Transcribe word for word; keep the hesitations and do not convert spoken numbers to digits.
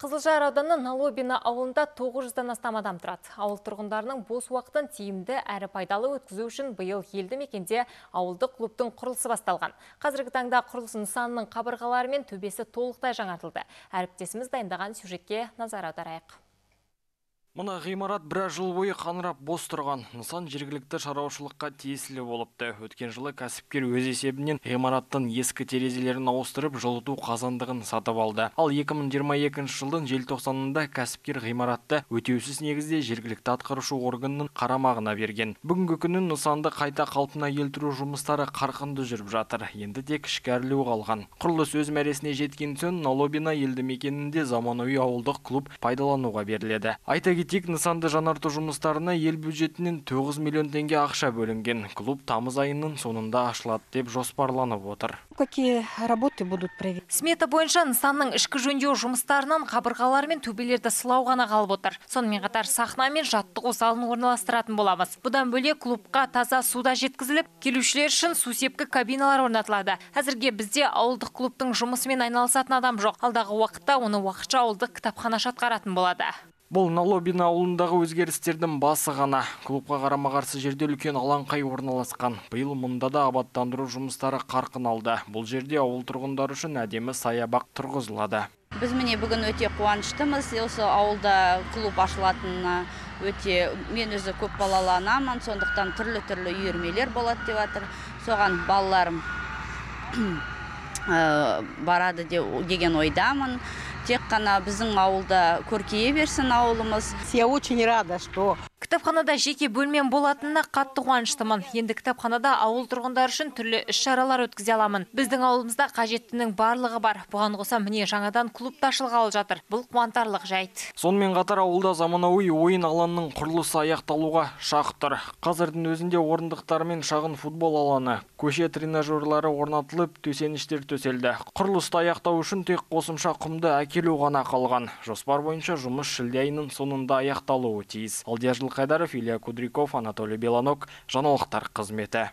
Қызылжар ауданы Налобина ауылында тоғыз жүзден астам адам тұрады. Ауыл тұрғындарының бос уақытын тиімді әрі пайдалы өткізу үшін биыл елді мекенде ауылдық клубтың құрылысы басталған. Қазіргі таңда құрылыс нысанының қабырғалары мен төбесі толықтай жаңартылды. Әріптесіміз дайындаған сюжетке назар аударайық. Мұна ғимарат біраз жыл бойы қаңырап бос тұрған. Нысан жергілікті шаруашылыққа тиесілі болыпты. Өткен жылы кәсіпкер өз есебінен ғимараттың ескі терезелерін ауыстырып, жылыту қазандығын сатып алды. Ал екі мың жиырма екінші жылдың желтоқсанында кәсіпкер ғимаратты өтеусіз негізде жергілікті атқарушы органның қарамағына берген. Бүгінгі күні нысанды қайта қалпына келтіру жұмыстары қарқынды жүріп жатыр. Енді тек ішкәрілеу қалған. Құрылыс өз мәресіне жеткен соң Налобина елді мекенінде заманауи ауылдық клуб пайдалануға беріледі. Айта Тек нысанды жаңарту жұмыстарына ел бюджетінен тоғыз миллион теңге ақша бөлінген. Клуб тамыз айының соңында ашылады деп жоспарланып отыр. Какие работы будут проведены? Смета бойынша нысанның ішкі жөндеу жұмыстарынан қабырғалар мен төбелерді сылау ғана қалып отыр. Сонымен қатар сахна мен жаттығу залын орналастыратын боламыз. Бұдан бөлек клубқа таза суда жеткізіліп, келушілер үшін су сепкі кабиналар орнатылады. Әзірге бізде ауылдық клубтың жұмысымен айналысатын адам жоқ. Алдағы уақытта оны уақытша ауылдық кітапханашы атқаратын болады. Бұл Налобина ауылындағы өзгерістердің басы ғана. Клубқа қарама-қарсы жерде үлкен алаңқай орналасқан. Биыл мұнда да абаттандыру жұмыстары қарқын алды. Бұл жерде ауыл тұрғындары үшін әдемі саябақ тұрғызылады. Біз міне бүгін өте қуаныштымыз. Осы ауылда клуб ашылатынына өте, мен өзі көп балалы анамын, сондықтан түрлі-түрлі үйірмелер болады деп жатыр. Соған балаларым барады деген ойдамын. Тек қана біздің ауылда көркейе берсін ауылымыз. Я очень рада, что Кітапханада жеке бөлмен болатынына қатты қуаныштымын. Енді кітапханада ауыл тұрғындар үшін түрлі іс-шаралар өткізе аламын. Біздің ауылымызда қажеттінің барлығы бар. Бұған қоса міне жаңадан клуб ашылғалы жатыр. Бұл қуантарлық жайт. Сонымен қатар ауылда заманауи ойын алаңының құрылысы аяқталуға шақ тұр. Қазірдің өзінде орындықтар мен шағын футбол алаңы, көше тренажерлары орнатылып, төсеніштер төселді. Құрылысты аяқтау үшін тек қосымша құмды әкелу ғана қалған. Жоспар бойынша жұмыс шілде айының соңында аяқталуы тиіс. Алдияр Жылқайдаров, Илья Кудряков, Анатолий Белонок, жаңалықтар қызметі.